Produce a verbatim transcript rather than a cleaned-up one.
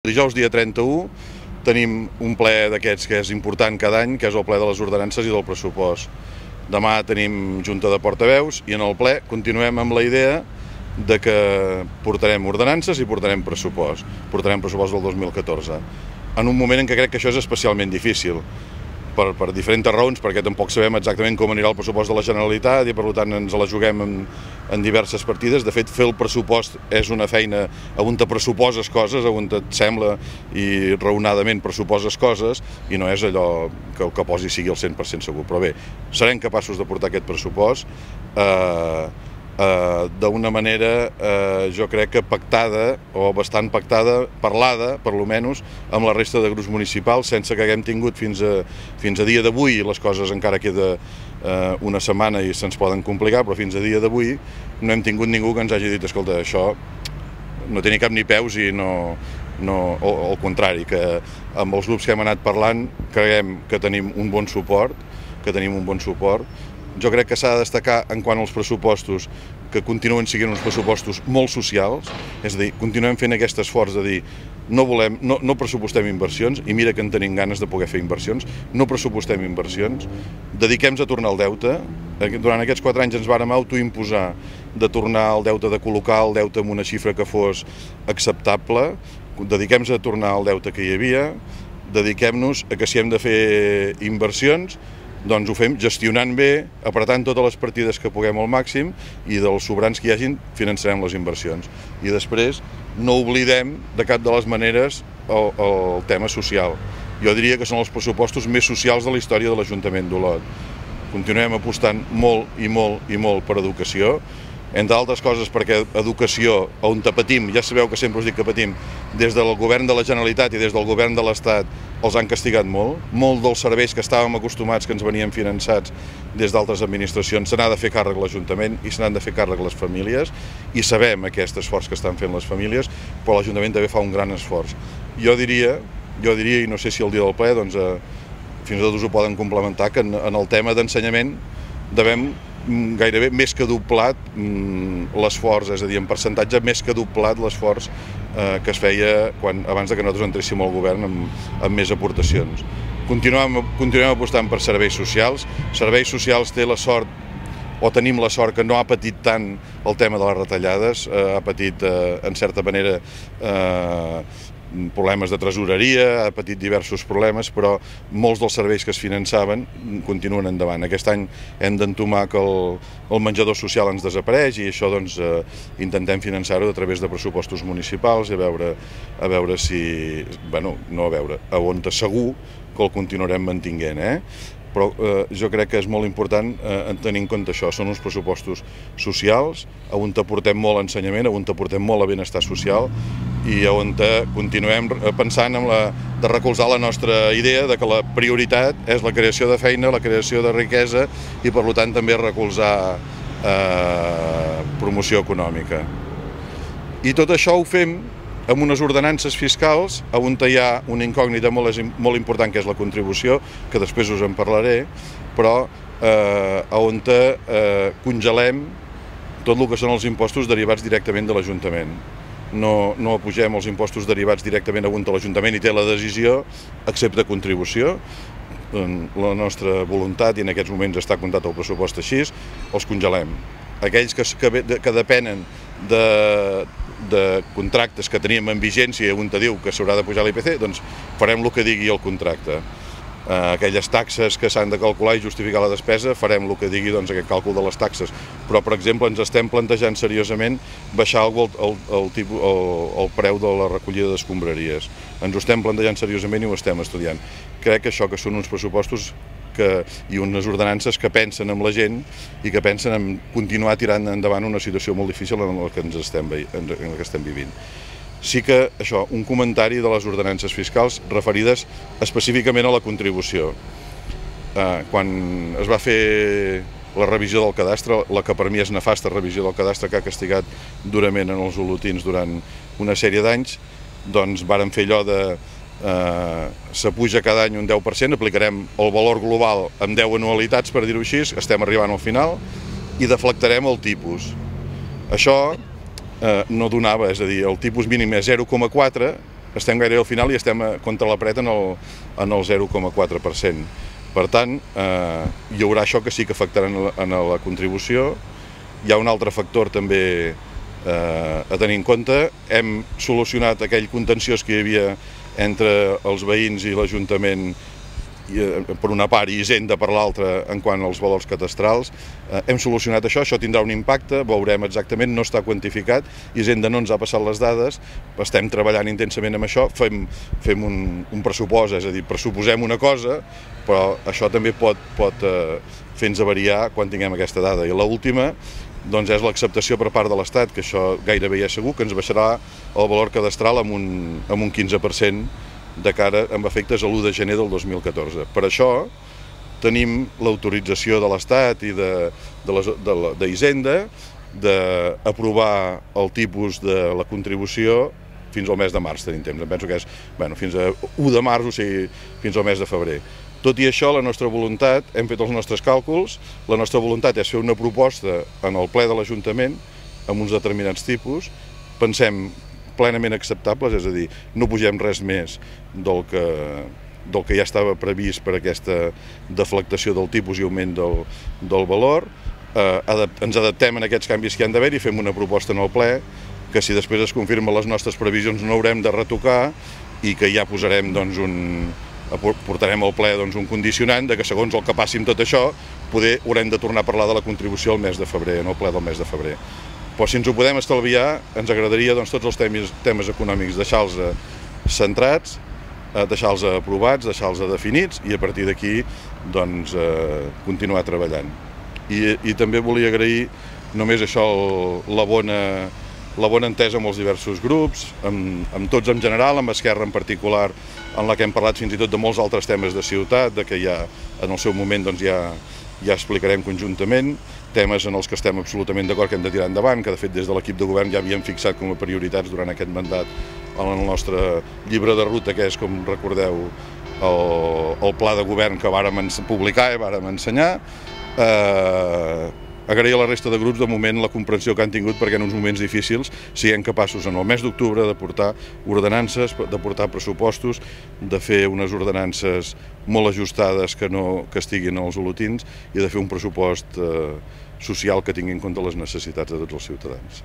Dijous, dia trenta-u, tenim un ple d'aquests que és important cada any, que és el ple de les ordenances i del pressupost. Demà tenim junta de portaveus i en el ple continuem amb la idea de que portarem ordenances i portarem pressupost. Portarem pressupost del dos mil catorze. En un moment en què crec que això és especialment difícil, per, per diferents raons, perquè tampoc sabem exactament com anirà el pressupost de la Generalitat i per tant ens la juguem en, en diverses partides. De fet, fer el pressupost és una feina on te pressuposes coses, on et sembla i raonadament pressuposes coses i no és allò que el que posi sigui el cent per cent segur. Però bé, serem capaços de portar aquest pressupost eh, eh, d'una manera, eh, jo crec que pactada, o bastant pactada, parlada, per lo menys, amb la resta de grups municipals, sense que haguem tingut fins a, fins a dia d'avui, les coses encara queda eh, una setmana i se'ns poden complicar, però fins a dia d'avui no hem tingut ningú que ens hagi dit, escolta, això no té ni cap ni peus i no... no o, o al contrari, que amb els grups que hem anat parlant creiem que tenim un bon suport, que tenim un bon suport. Jo crec que s'ha de destacar en quant als pressupostos que continuen sent uns pressupostos molt socials, és a dir, continuem fent aquest esforç de dir no volem, no, no pressupostem inversions, i mira que en tenim ganes de poder fer inversions, no pressupostem inversions, dediquem-nos a tornar el deute. Durant aquests quatre anys ens vàrem autoimposar de tornar el deute, de col·locar el deute en una xifra que fos acceptable, dediquem-nos a tornar el deute que hi havia, dediquem-nos a que si hem de fer inversions, doncs ho fem gestionant bé, apretant totes les partides que puguem al màxim i dels sobrants que hi hagin finançarem les inversions. I després no oblidem de cap de les maneres el, el tema social. Jo diria que són els pressupostos més socials de la història de l'Ajuntament d'Olot. Continuem apostant molt i molt i molt per educació, entre altres coses perquè educació, on patim, ja sabeu que sempre us dic que patim, des del govern de la Generalitat i des del govern de l'Estat els han castigat molt. Molt dels serveis que estàvem acostumats, que ens venien finançats des d'altres administracions, se n'ha de fer càrrec l'Ajuntament i se n'han de fer càrrec les famílies, i sabem aquest esforç que estan fent les famílies, però l'Ajuntament també fa un gran esforç. Jo diria, jo diria, i no sé si el dia del ple, doncs, eh, fins i tot us ho poden complementar, que en, en el tema d'ensenyament devem gairebé més que doblat l'esforç, és a dir, en percentatge més que doblat l'esforç eh, que es feia quan, abans de que nosaltres entréssim al govern amb, amb més aportacions. Continuem, continuem apostant per serveis socials. Serveis socials té la sort, o tenim la sort, que no ha patit tant el tema de les retallades, eh, ha patit, eh, en certa manera, eh, problemes de tresoreria, ha patit diversos problemes, però molts dels serveis que es finançaven continuen endavant. Aquest any hem d'entomar que el, el menjador social ens desapareix i això doncs, eh, intentem finançar-ho a través de pressupostos municipals i a veure, a veure si... bueno, no a veure, a on segur que el continuarem mantinguent, eh? Però eh, jo crec que és molt important eh, tenir en compte això. Són uns pressupostos socials, on aportem molt a ensenyament, on aportem molt a benestar social i on continuem pensant en la, de recolzar la nostra idea de que la prioritat és la creació de feina, la creació de riquesa i per tant també recolzar eh, promoció econòmica. I tot això ho fem amb unes ordenances fiscals on hi ha una incògnita molt, molt important, que és la contribució, que després us en parlaré, però eh, on eh, congelem tot el que són els impostos derivats directament de l'Ajuntament. No, no apugem els impostos derivats directament a l'Ajuntament i té la decisió, excepte contribució. La nostra voluntat, i en aquests moments està comptat el pressupost així, els congelem. Aquells que, que, que depenen de, de contractes que teníem en vigència on te diu que s'haurà de pujar l'I P C, doncs farem el que digui el contracte. Aquelles taxes que s'han de calcular i justificar la despesa, farem el que digui doncs, aquest càlcul de les taxes. Però, per exemple, ens estem plantejant seriosament baixar el, el, el, tipus, el, el preu de la recollida d'escombraries. Ens ho estem plantejant seriosament i ho estem estudiant. Crec que això que són uns pressupostos que, i unes ordenances que pensen en la gent i que pensen en continuar tirant endavant una situació molt difícil en la que ens estem, en la que estem vivint. Sí que, això, un comentari de les ordenances fiscals referides específicament a la contribució. Eh, quan es va fer la revisió del cadastre, la que per mi és nefasta revisió del cadastre que ha castigat durament en els olotins durant una sèrie d'anys, doncs vàrem fer allò de eh, s'apuja cada any un deu per cent, aplicarem el valor global amb deu anualitats, per dir-ho així, estem arribant al final, i deflactarem el tipus. Això eh, no donava, és a dir, el tipus mínim és zero coma quatre, estem gairebé al final i estem contra la paret en el, en el zero coma quatre per cent. Per tant, eh, hi haurà això que sí que afectarà en la, en la contribució. Hi ha un altre factor també eh, a tenir en compte. Hem solucionat aquell contenciós que hi havia entre els veïns i l'Ajuntament per una part i Hisenda per l'altra en quant als valors cadastrals. Eh, hem solucionat això, això tindrà un impacte, veurem exactament, no està quantificat, Hisenda no ens ha passat les dades, estem treballant intensament amb això, fem, fem un, un pressupost, és a dir, pressuposem una cosa, però això també pot, pot eh, fer-nos variar quan tinguem aquesta dada. I l'última doncs és l'acceptació per part de l'Estat, que això gairebé ja és segur, que ens baixarà el valor cadastral amb un, amb un quinze per cent de cara amb efectes a l'u de gener del dos mil catorze. Per això tenim l'autorització de l'Estat i d'Hisenda d'aprovar el tipus de la contribució fins al mes de març, tenim temps. Em penso que és bueno, fins a u de març, o sigui, fins al mes de febrer. Tot i això, la nostra voluntat, hem fet els nostres càlculs, la nostra voluntat és fer una proposta en el ple de l'Ajuntament amb uns determinats tipus, pensem plenament acceptables, és a dir, no pugem res més del que, del que ja estava previst per aquesta deflactació del tipus i augment del, del valor. Eh, adapt, ens adaptem a aquests canvis que hi han d'haver i fem una proposta en el ple que si després es confirmen les nostres previsions no haurem de retocar i que ja posarem doncs, un, portarem al ple doncs, un condicionant de que segons el que passi amb tot això poder haurem de tornar a parlar de la contribució al mes de febrer, en el ple del mes de febrer. Però si ens ho podem estalviar, ens agradaria doncs, tots els temes, temes econòmics deixar-los centrats, deixar-los aprovats, deixar-los definits i a partir d'aquí doncs, eh, continuar treballant. I, I també volia agrair només això, el, la, bona, la bona entesa amb els diversos grups, amb, amb tots en general, amb Esquerra en particular, en la que hem parlat fins i tot de molts altres temes de ciutat, de que ja en el seu moment doncs, ja, ja explicarem conjuntament, temes en els que estem absolutament d'acord que hem de tirar endavant, que de fet des de l'equip de govern ja havíem fixat com a prioritats durant aquest mandat en el nostre llibre de ruta, que és, com recordeu, el, el pla de govern que vàrem publicar i vàrem ensenyar. Eh, agrair a la resta de grups de moment la comprensió que han tingut perquè en uns moments difícils siguem capaços en el mes d'octubre de portar ordenances, de portar pressupostos, de fer unes ordenances molt ajustades que no que estiguin als olotins i de fer un pressupost eh, social que tingui en compte les necessitats de tots els ciutadans.